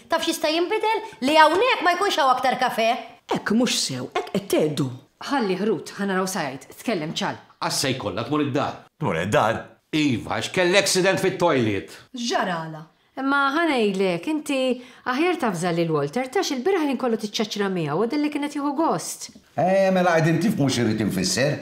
Taf x'jista' jinbidel? Li hawnhekk ma jkunx hawn aktar kafè. Hekk mhux sew, hekk qed tgħeddu. Ħallih Ruth, ħa naraw sa jgħid. Tkellem Ċal. Għax se jkollha tmur id-dar. Tmur id-dar? Iva, għax kellha accident fit-toilet. X'ġaralha? Imma ħa ngħidlek, inti aħjar tavża lil Walter tgħax il-bieraħ il-ħin kollu tiċċaċċra miegħu u delli kien qed jieħu gost. Eh, mela qegħdin tifhmu x'irrid infisser.